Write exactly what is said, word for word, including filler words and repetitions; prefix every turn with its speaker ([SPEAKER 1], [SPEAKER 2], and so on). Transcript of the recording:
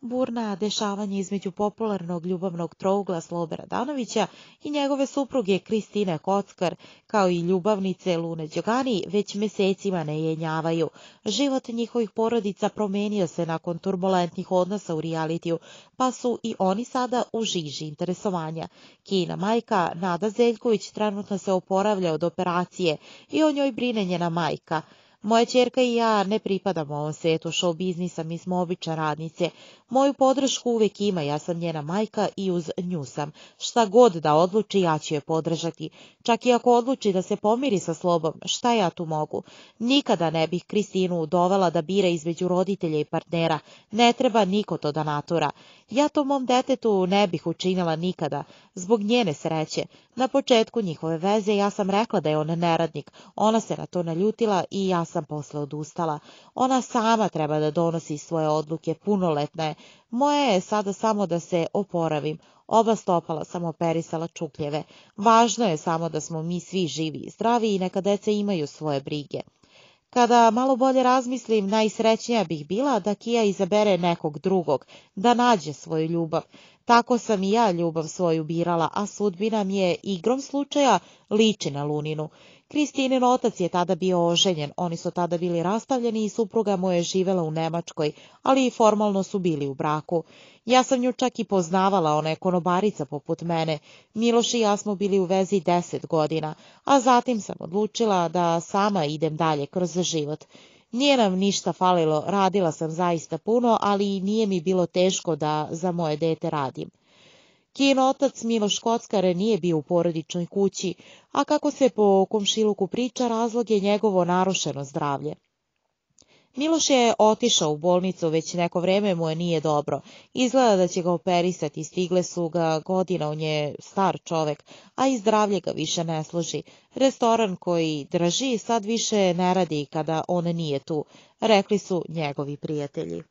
[SPEAKER 1] Burna dešavanja između popularnog ljubavnog trougla Slobe Radanovića i njegove supruge Kristine Kockar, kao i ljubavnice Lune Đogani, već mesecima ne jenjavaju. Život njihovih porodica promenio se nakon turbulentnih odnosa u realitiju, pa su i oni sada u žiži interesovanja. Kijina majka, Nada Zeljković, trenutno se oporavlja od operacije i o njoj brine njena majka. Moja ćerka i ja ne pripadamo ovom svetu show biznisa, mi smo obične radnice. Moju podršku uvek ima, ja sam njena majka i uz nju sam. Šta god da odluči, ja ću je podržati. Čak i ako odluči da se pomiri sa Slobom, šta ja tu mogu? Nikada ne bih Kristinu dovela da bira između roditelja i partnera. Ne treba niko to da natura. Ja to mom detetu ne bih učinila nikada, zbog njene sreće. Na početku njihove veze ja sam rekla da je on neradnik. Ona se na to naljutila i ja sam posle odustala. Ona sama treba da donosi svoje odluke, punoletna je. Moje je sada samo da se oporavim. Oba stopala sam operisala čukljeve. Važno je samo da smo mi svi živi i zdravi i neka deca imaju svoje brige. Kada malo bolje razmislim, najsrećnija bih bila da Kija izabere nekog drugog, da nađe svoju ljubav. Tako sam i ja ljubav svoju birala, a sudbina mi je igrom slučaja liči na Luninu. Kristinin otac je tada bio oženjen, oni su tada bili rastavljeni i supruga mu je živela u Nemačkoj, ali i formalno su bili u braku. Ja sam nju čak i poznavala, ona je konobarica poput mene. Miloš i ja smo bili u vezi deset godina, a zatim sam odlučila da sama idem dalje kroz život. Nije nam ništa falilo, radila sam zaista puno, ali nije mi bilo teško da za moje dete radim. Kijin otac Miloš Kockar nije bio u porodičnoj kući, a kako se po komšiluku priča, razlog je njegovo narušeno zdravlje. Miloš je otišao u bolnicu, već neko vreme mu je nije dobro. Izgleda da će ga operisati, stigle su ga godine, on je star čovek, a i zdravlje ga više ne služi. Restoran koji drži sad više ne radi kada on nije tu, rekli su njegovi prijatelji.